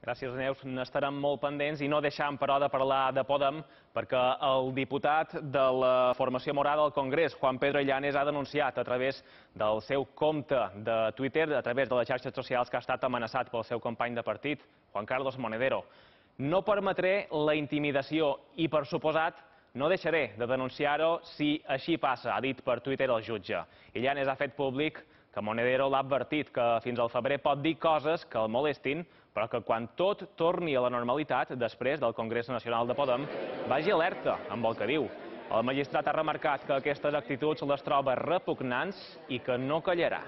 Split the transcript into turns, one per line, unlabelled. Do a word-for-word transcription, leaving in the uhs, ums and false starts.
Gràcies, Neus. N'estarem molt pendents i no deixant, però, de parlar de Podem, perquè el diputat de la formació morada al Congrés, Juan Pedro Illanes, ha denunciat a través del seu compte de Twitter, a través de les xarxes socials, que ha estat amenaçat pel seu company de partit, Juan Carlos Monedero. No permetré la intimidació i, per suposat, no deixaré de denunciar-ho si així passa, ha dit per Twitter el jutge. Illanes ha fet públic que Monedero l'ha advertit que fins al febrer pot dir coses que el molestin, però que quan tot torni a la normalitat, després del Congrés Nacional de Podem, vagi alerta amb el que diu. El magistrat ha remarcat que aquestes actituds les troba repugnants i que no callarà.